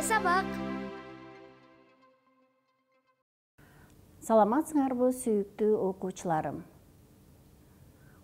сабак. Саламатсыңарбы сүйүктүү окуучуларым?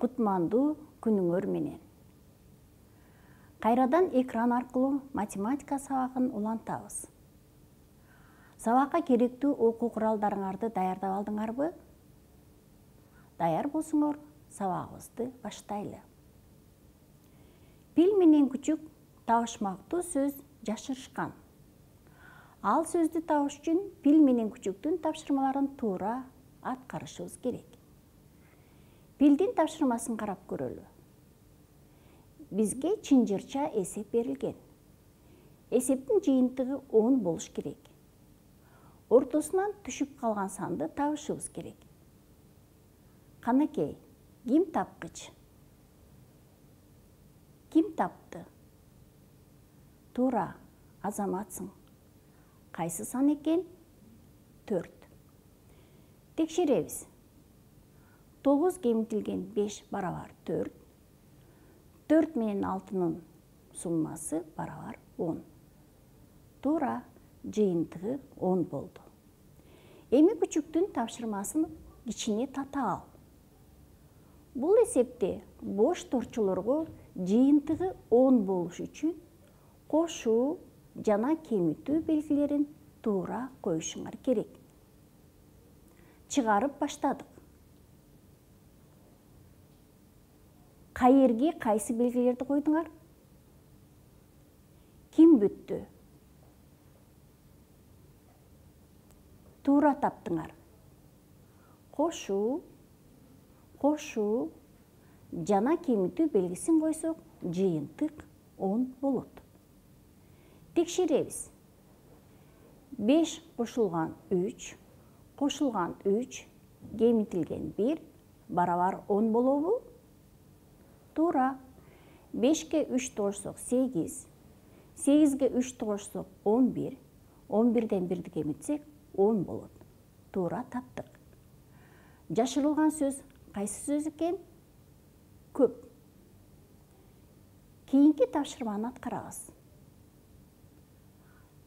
Кутмандуу күнүңөр менен. Кайрадан экран аркылуу математика сабагын улантабыз. Сабакка керектүү окуу куралдарыңарды даярдап алдыңарбы? Даяр болсоңор, сабагыбызды баштайлы. Пил менен күчүк табышмактуу сөз жашырышкан. Ал сөздү табыш үчүн пил менен күчүктүн тапшырмаларын туура аткарышыбыз керек. Пилдин тапшырмасын карап көрөлү. Бизге чынжырча эсеп берилген. Эсептин жыйынтыгы 10 болуш керек. Ортосунан түшүп калган санды табышыбыз керек. Канакей, ким тапкыч? Ким тапты? Туура, Азаматсың. Кайсы сан экен? 4. Текшеребиз. 9 кемитилген 5 барабар 4. 4 менен 6-нын суммасы барабар 10. Туура, жыйынтыгы 10 болду. Эми күчүктүн тапшырмасын кичине тата ал. Бул эсепте бош торчолорго жыйынтыгы 10 болуш үчүн кошуу жана кемитүү белгилерин туура коюшуңар керек. Чыгарып баштадык. Кайерге кайсы белгилерди койдуңар? Ким бүттү? Туура таптыңар. Кошуу жана кемитүү белгисин койсок, жыйынтык 10 болот. Текшеребиз. 5 кошулган 3, кошулган 3, кемитилген 1 барабар 10 болобу? Туура. 5-ке 3 тогушсок 8, 8-ге 3 тогушсок 11, 11ден 1-ди кемитсек 10 болот. Туура таптык. Жашырылган сөз кайсы сөз экен? Көп. Кийинки тапшырманы аткарабыз.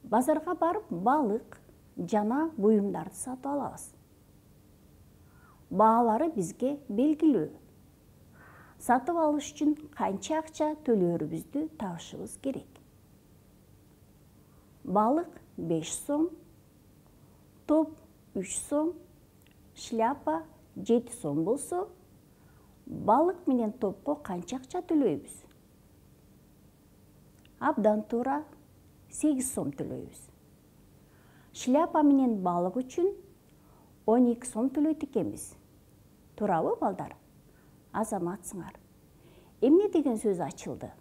Базарга барып балык жана буюмдарды сатып алабыз. Баалары бизге белгилүү. Сатып алыш үчүн канча акча төлөөрүбүздү табышыбыз керек. Балык 5 сом, топ 3 сом, шляпа 7 сом болсо, балык менен топко канча акча төлөйбүз? Абдан туура, 8 сом төлөйбүз. Шляпа менен балык үчүн 12 сом төлөйт экенбиз. Туурабы, балдар? Азаматсыңар. Эмне деген сөз ачылды?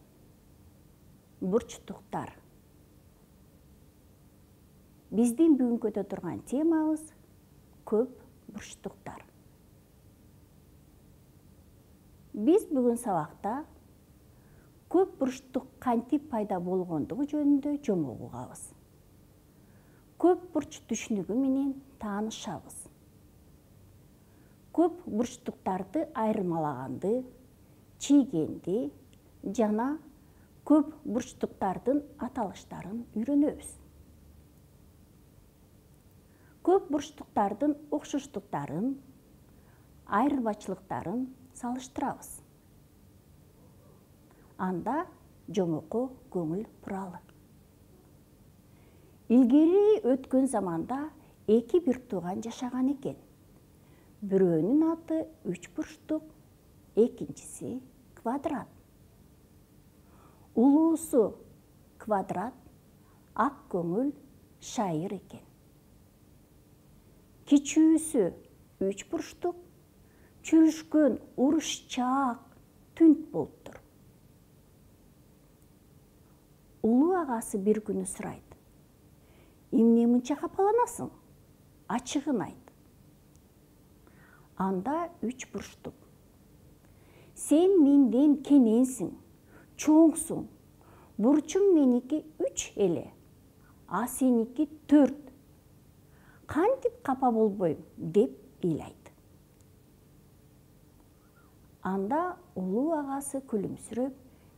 Бурчтуктар. Биздин бүгүн көтө турган темабыз көп бурчтуктар. Биз бүгүн сабакта көп бурчтук кантип пайда болгондугу жөнүндө жомок угабыз. Көп бурч түшүнүгү менен таанышабыз. Көп бурчтуктарды айырмалаганды, чийгенди жана көп бурчтуктардын аталыштарын үйрөнөбүз. Көп бурчтуктардын окшоштуктарын, айырмачылыктарын салыштырабыз. Анда жомокко көңүл буралы. Илгери өткөн заманда 2 бир тууган жашаган экен. Бирөөнүн аты 3 бурчтук, экинчиси квадрат. Улуусу квадрат, ак көңүл шайыр экен. Кичүүсү 3 бурчтук, чүрүшкөн урушчаак түнт болуптур. Улуу агасы бир күнү сурайт: эмне мынча капаланасың? Ачыгын айт. Анда 3 бурчтук: сен менден кененсиң, чоңсуң. Бурчум меники 3 эле, а сеники 4. Кантип капа болбойм деп ыйлайт. Анда улуу агасы күлүмсүрөп,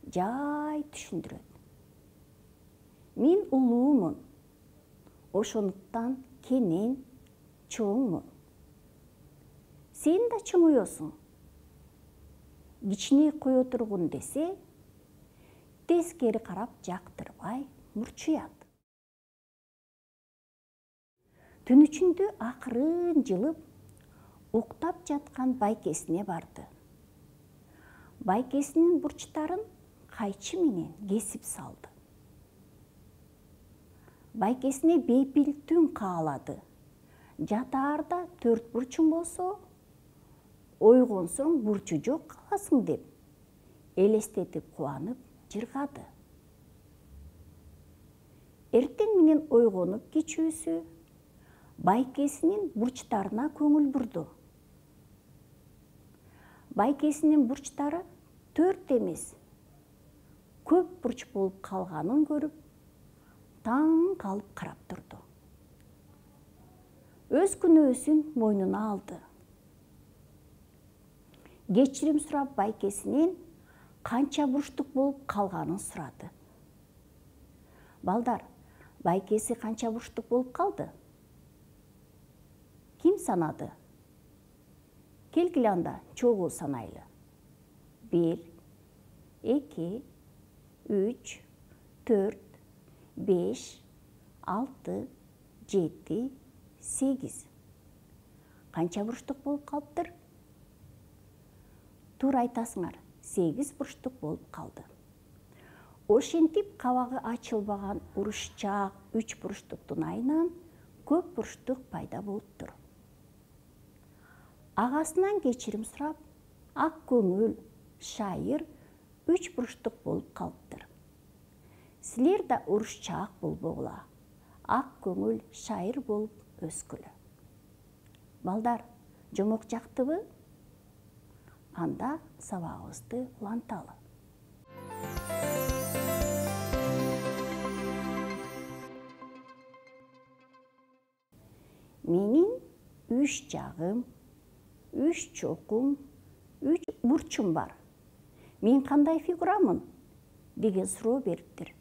жай түшүндүрөт. Мен улуумун, ошондуктан кенен чоңмун. Сен да чоңоёсуң. Кичине кое тургун десе, тескери карап жактырбай мурчуят. Түн ичинде акырын жылып, уктап жаткан байкесине барды. Байкесинин бурчтарын кайчы менен кесип салды. Байкесине бейпил түн каалады. Жатаарда 4 бурчуң болсо, ойгонсоң бурчу жок каласың деп элестетип кубанып жыргады. Эртең менен ойгонуп кичүүсү байкесинин бурчтарына көңүл бурду. Байкесинин бурчтары 4 эмес, көп бурч болуп калганын көрүп, таң калып карап турду. Өз күнөөсүн мойнуна алды. Кечирим сурап байкесинен канча бурчтук болуп калганын сурады. Балдар, байкеси канча бурчтук болуп калды? Ким санады? Келгиле анда чогуу санайлы. 1, 2, 3, 4, 5, 6, 7, 8. Канча бурчтук болуп калыптыр? Туура айтасыңар, 8 бурчтук болуп калды. Ошентип кабагы ачылбаган урушчаак 3 бурчтуктун айынан көп бурчтук пайда болуптур. Агасынан кечирим сурап, ак көңүл шайыр 3 бурчтук болуп калыптыр. Силер да урушчаак болбогула, ак көңүл шайыр болуп өскүлө. Балдар, жомок жактыбы? Анда сабагыбызды уланталы. Менин 3 жагым, 3 чокум, 3 бурчум бар. Мен кандай фигурамын? Деген суроо бериптир.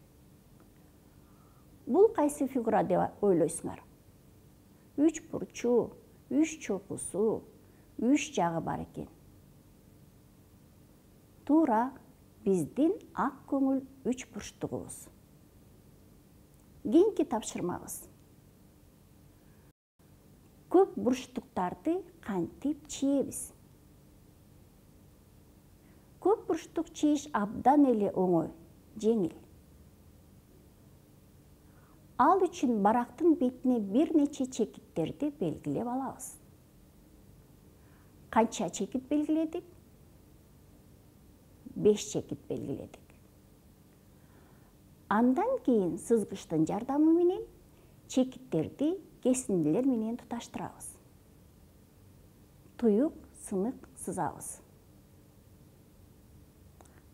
Бул кайсы фигура деп ойлойсуңар? 3 бурчу, 3 чокусу, 3 жагы бар экен. Туура, биздин ак көңүл 3 бурчтугубуз. Кийинки тапшырмабыз. Көп бурчтуктарды кантип чиебиз? Көп бурчтук чийиш абдан эле оңой, жеңил. Ал үчүн барактын бетине бир нече чекиттерди белгилеп алабыз. Канча чекит белгиледик? 5 чекит белгиледик. Андан кийин сызгычтын жардамы менен чекиттерди кесиндилер менен туташтырабыз. Туюк сынык сызабыз.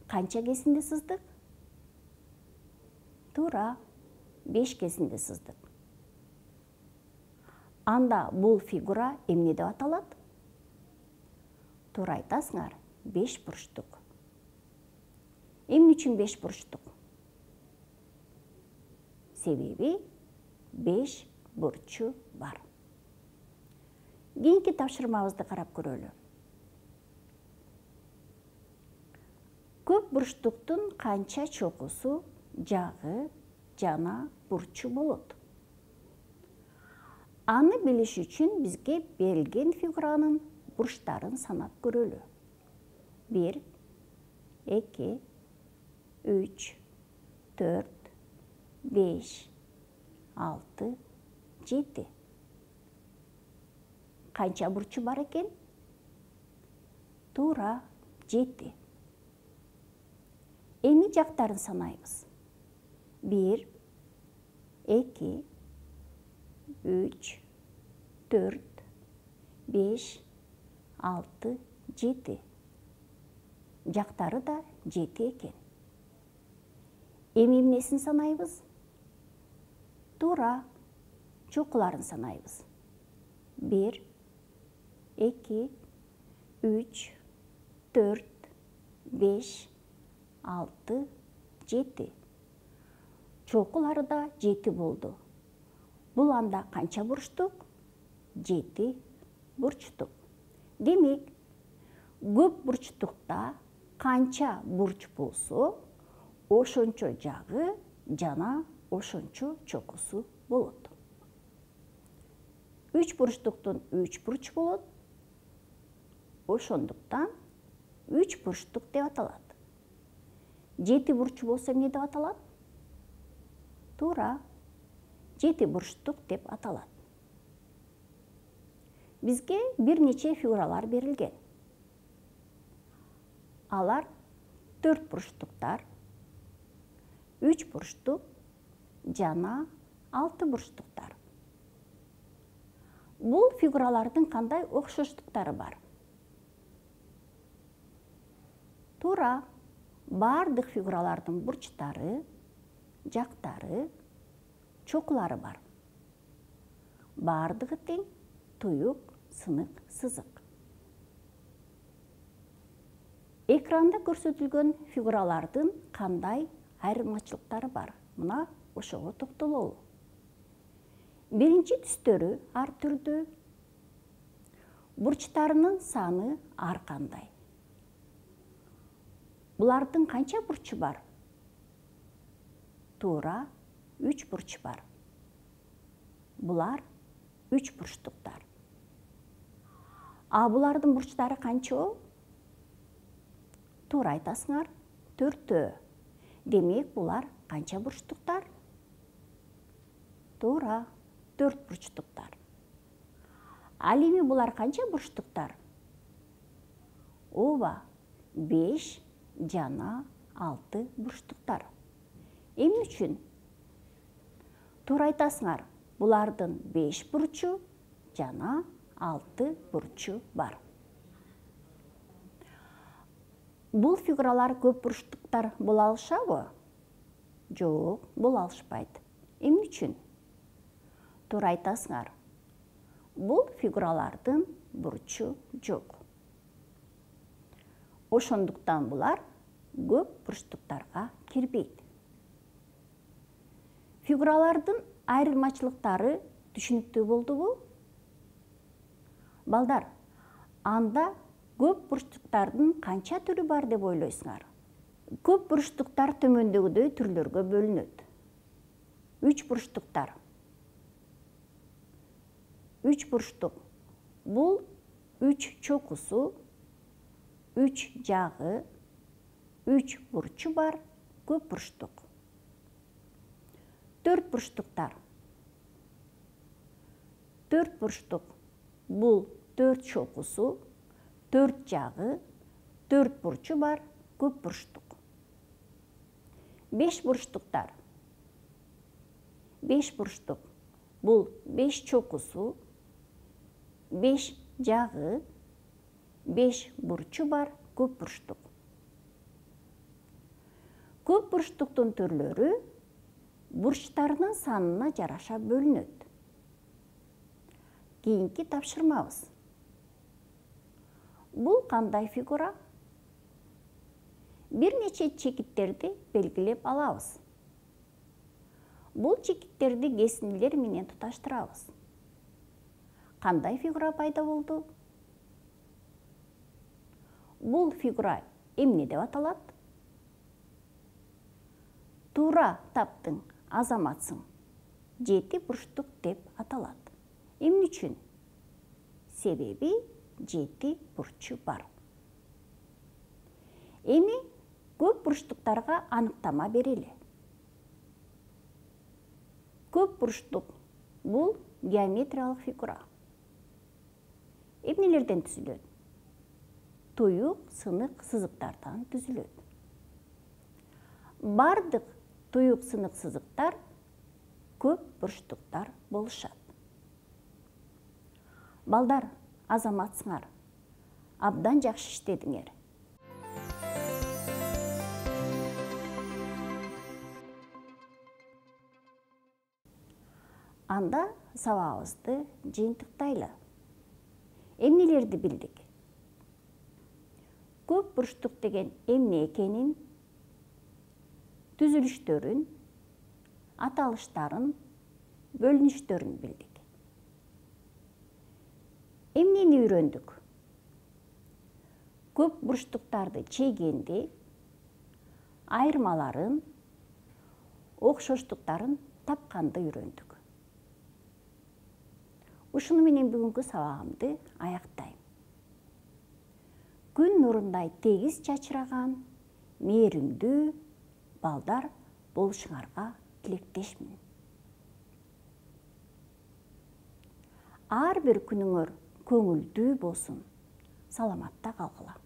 Канча кесинди сыздык? Туура, 5 кесинди сыздык. Анда бул фигура эмне деп аталат? Туура айтасыңар, 5 бурчтук. Эмне үчүн 5 бурчтук? Себеби 5 бурчу бар. Кийинки тапшырмабызды карап көрөлү. Көп бурчтуктун канча чокусу, жагы жана бурчу болот? Аны билиш үчүн бизге берилген фигуранын бурчтарын санап көрөлү. 1, 2, 3, 4, 5, 6, 7. Канча бурчу бар экен? Туура, 7. Эми жактарын санайбыз. 1, 2, 3, 4, 5, 6, 7. Жактары да 7 экен. Эми эмнесин санайбыз? Туура, чокуларын санайбыз. 1, 2, 3, 4, 5, 6, 7. Чокулары да 7 болду. Бул анда канча бурчтук? 7 бурчтук. Демек, көп бурчтукта канча бурч болсо, ошончо жагы жана ошончо чокусу болот. 3 бурчтуктун 3 бурч болот. Ошондуктан 3 бурчтук деп аталат. 7 бурч болсо эмне деп аталат? Туура, 7 бурчтук деп аталат. Бизге бир нече фигуралар берилген. Алар 4 бурчтуктар, 3 бурчтук жана 6 бурчтуктар. Бул фигуралардын кандай окшоштуктары бар? Туура, бардык фигуралардын бурчтары, жактары, чокулары бар. Бардыгы тең, туюк, сынык, сызык. Экранда көрсөтүлгөн фигуралардын кандай айырмачылыктары бар? Мына ошого токтололу. Биринчи түстөрү ар түрдүү. Бурчтарынын саны ар кандай. Булардын канча бурчу бар? Туура, 3 бурч бар. Булар 3 бурчтуктар. А булардын бурчтары канча? Туура айтасыңар, 4. Демек, булар канча бурчтуктар? Туура, 4 бурчтуктар. Ал эми булар канча бурчтуктар? Ооба, 5 жана 6 бурчтуктар. Эмне үчүн? Туура айтасыңар, булардын 5 бурчу жана 6 бурчу бар. Бул фигуралар көп бурчтуктар боло алышабы? Жок, боло алышпайт. Эмне үчүн? Туура айтасыңар. Бул фигуралардын бурчу жок. Ошондуктан булар көп бурчтуктарга кирбейт. Фигуралардын айырмачылыктары түшүнүктүү болдубу? Балдар, анда көп бурчтуктардын канча түрү бар деп ойлойсуңар? Көп бурчтуктар төмөндөгүдөй түрлөргө бөлүнөт. 3 бурчтуктар. 3 бурчтук. Бул 3 чокусу, 3 жагы, 3 бурчу бар көп бурчтук. 4 бурчтуктар. 4 бурчтук. Бул 4 чокусу, 4 жагы, 4 бурчу бар көп бурчтук. 5 бурчтуктар. 5 бурчтук. Бул 5 чокусу, 5 жагы, 5 бурчу бар көп бурчтук. Көп бурчтуктун түрлөрү бурчтарынын санына жараша бөлүнөт. Кийинки тапшырмабыз. Бул кандай фигура? Бир нече чекиттерди белгилеп алабыз. Бул чекиттерди кесиндилер менен туташтырабыз. Кандай фигура пайда болду? Бул фигура эмне деп аталат? Туура таптың, азаматсың. 7 бурчтук деп аталат. Эмне үчүн? Себеби 7 бурчу бар. Эми көп бурчтуктарга аныктама берели. Көп бурчтук бул геометриялык фигура. Эмнелерден түзүлөт? Туюк, сынык, сызыктардан түзүлөт. Бардык туюк, сынык, сызыктар көп бурчтуктар болушат. Балдар, азаматсыңар. Абдан жакшы иштедиңер. Анда сабагыбызды жыйынтыктайлы. Эмнелерди билдик? Көп бурчтук деген эмне экенин, түзүлүштөрүн, аталыштарын бөлүнүштөрүн билдик. Эмнени үйрөндүк? Көп бурчтуктарды чейгенди, айырмаларын, окшоштуктарын тапканды үйрөндүк. Ушуну менен бүгүнкү сабагымды аяктайм. Күн нурундай тегиз чачыраган, мээримдүү балдар болушуңарга тилектешмин. Ар бир күнүңөр көңүлдүү болсун. Саламатта калгыла.